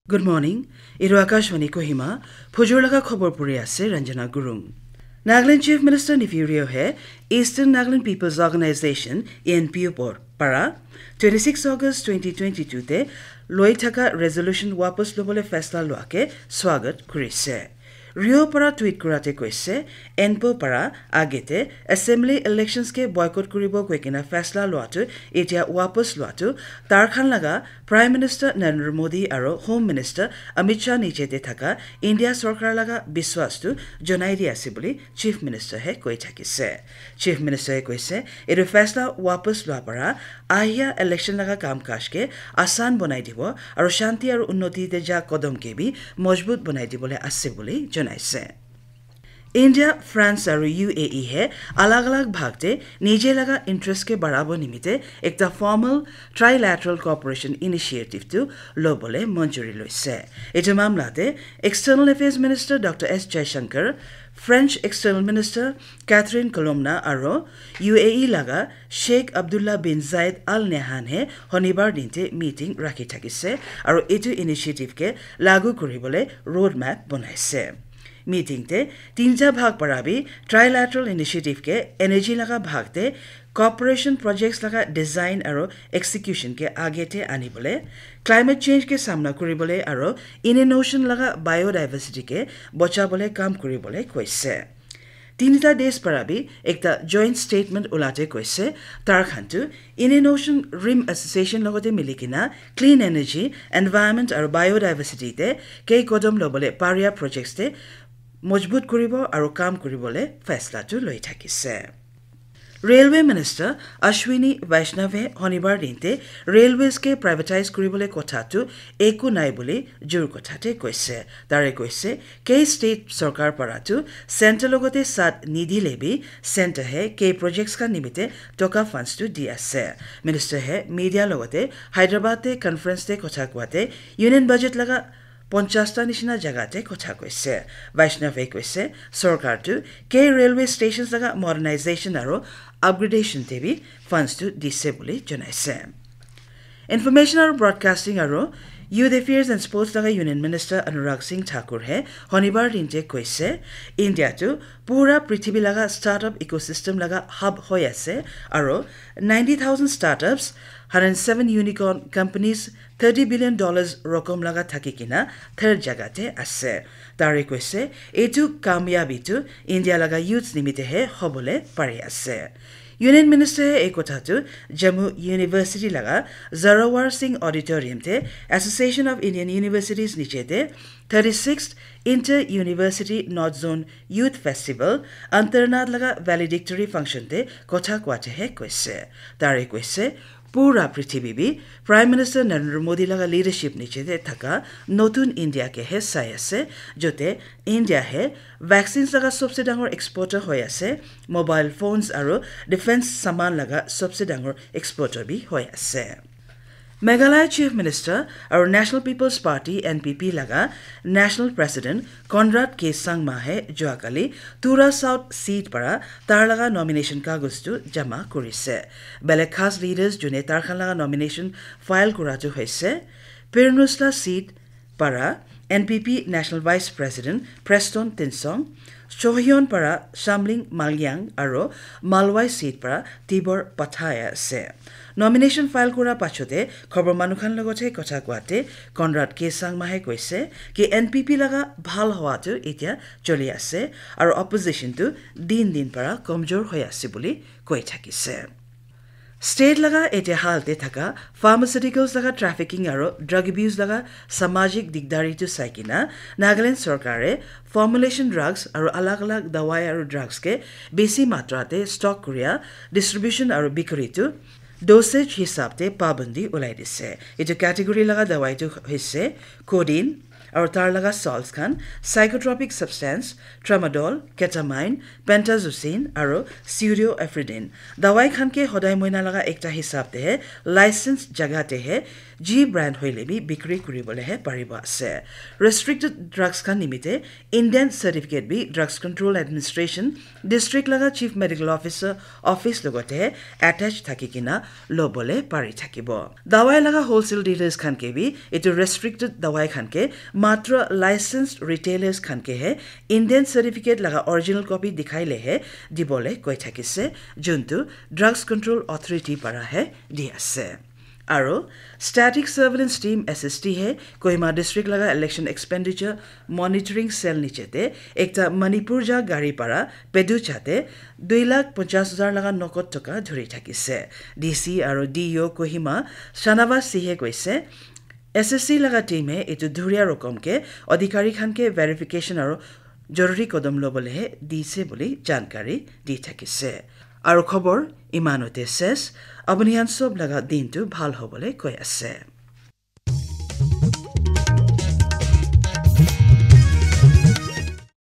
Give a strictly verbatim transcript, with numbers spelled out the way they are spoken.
Good morning. Etu Akashvani Kohima, phujur laga khobor puri ase Ranjana Gurung. Nagaland Chief Minister Neiphiu Rio he Eastern Nagaland People's Organization, E N P O por-, para twenty-six August twenty twenty-two te loi thaka resolution wapas lobole faisla loa ke swagat kurise. Rio para tweet kurate koise, E N P O para agete assembly elections ke boycott kuribo koi kena faisla loa tu etia wapas loa tu tar khan laga Prime Minister Narendra Modi aro Home Minister Amit Shah niche te thaka India sorkar laga biswas tu jonai di ase buli Chief Minister he koi thakise. Chief Minister he koise, etu faisla wapas loa para ahia election laga kam kaj ke asan bonai dibo aro shanti aro unnoti te ja kodom ke bi mojbut bonai dibole ase buli jonaise. India, France aru U A E he alag alag bhag te nije laga interest ke barabo nimite ekta formal trilateral cooperation initiative tu lobole manjuri loise. Etu mamla te External Affairs Minister Doctor S Jaishankar, French External Minister Catherine Colonna aru U A E laga Sheikh Abdullah bin Zayed Al Nahyan he honibar din te meeting rakhi thakise aru etu initiative ke lagu kuribole roadmap bonaise. Meeting te tinta bhag para bi trilateral initiative ke energy laga bhag te cooperation projects laga design aru execution ke age te anibole, climate change ke samna kuribole aru Indian Ocean laga biodiversity ke bochabole kam kuribole koise. Tinita desh para bi ekta joint statement ulate koise, tar khan tu Indian Ocean Rim Association logote mili kena clean energy, environment aru biodiversity te kei kodom lobole paria projects te mojbut kuribo aru kam kuribole faisla tu loi thakise. Railway Minister Ashwini Vaishnaw he honibar din te railways ke privatize kuribole kotha tu eku nai buli jur kotha te koise. Tare koise, kei state sorkar para tu center logote sat nidile bi center he kei projects khan nimite toka funds tu di ase. Minister he media logote Hyderabad te conference te kotha koate union budget laga ponchas ta nishina jaga te kotha koise. Vaishnaw he koise, sorkar tu kei railway stations laga modernization aru upgradation te bi funds tu dise buli jonaise. Information aru Broadcasting aru Youth Affairs and Sports laga Union Minister Anurag Singh Thakur he honibar din te koise, India tu pura prithibi laga startup ecosystem laga hub hoi ase aru ninety thousand startups, hundred seven unicorn companies, thirty billion dollars rokom laga thaki kena third jaga te ase. Tare koise, etu kamyabi tu India laga youths nimite he hobole pari ase. Union Minister he ei kotha tu Jammu University laga Zorawar Singh Auditorium te Association of Indian Universities niche te thirty-sixth Inter University North Zone Youth Festival Antarnath laga valedictory function te kotha koate he koise. Tare koise, pura prithibi bi Prime Minister Narendra Modi laga leadership niche te thaka notun India ke he sai ase, jote India he vaccines laga sobse dangor exporter hoi ase, mobile phones aru defense saman laga sobse dangor exporter bi hoi ase. Meghalaya Chief Minister aru National People's Party, N P P laga National President Conrad K Sangma he juakali Tura South seat para tar laga nomination kagos tu jama kurise. Belek khas leaders june tar khan laga nomination file kura tu hoise, Pirnusla seat para N P P National Vice President Preston Tynsong, Chohyon para Shamling Malyang aru Malwai seat para Tibor Pathaya ase. Nomination file kura pachote khobor manu khan logote kotha koate Conrad K Sangma he koise ki N P P laga bhal howa tu etia choli ase aru opposition tu din din para komjor hoi ase buli koi thakise. State laga etia hal te thaka pharmaceuticals laga trafficking aru drug abuse laga samajik digdari tu sai kena Nagaland sorkare formulation drugs aru alag alag dawai aru drugs ke besi matra te stock kuria, distribution aru bikri tu dosage hisab te pabandi ulai dise. Etu category laga dawai tu hoise codeine, Aru tar laga salts khan psychotropic substance, tramadol, ketamine, pentazocine aru pseudoephedrine. Dawai khan ke hodai moina laga ekta hisab te he, license jaga te he, ji brand hoile bi bikri kuribole he paribo ase. Restricted drugs khan nimite indent certificate bi Drugs Control Administration, district laga Chief Medical Officer office logote attach thaki kina lobole pari thakibo. Dawai laga wholesale dealers khan ke bi etu restricted dawai khan ke matra licensed retailers khan ke he indent certificate laga original copy dikhai le he dibole koi thakise, juntu Drugs Control Authority para he di ase. Aru Static Surveillance Team, S S T, he Kohima District laga Election Expenditure Monitoring Cell niche te ekta Manipur ja gari para Pedu chate dui lakh ponchas hajar laga nokot toka dhuri thakise. D C aru D E O Kohima Shanavas Singh he koise, S S C laga team he etu dhuria rokom ke adhikari khan ke verification aru joruri kodom lobole he dise buli jankari di thakise. Aru khobor imanote ses, apuni khan sob laga din tu bhal hobole koi ase.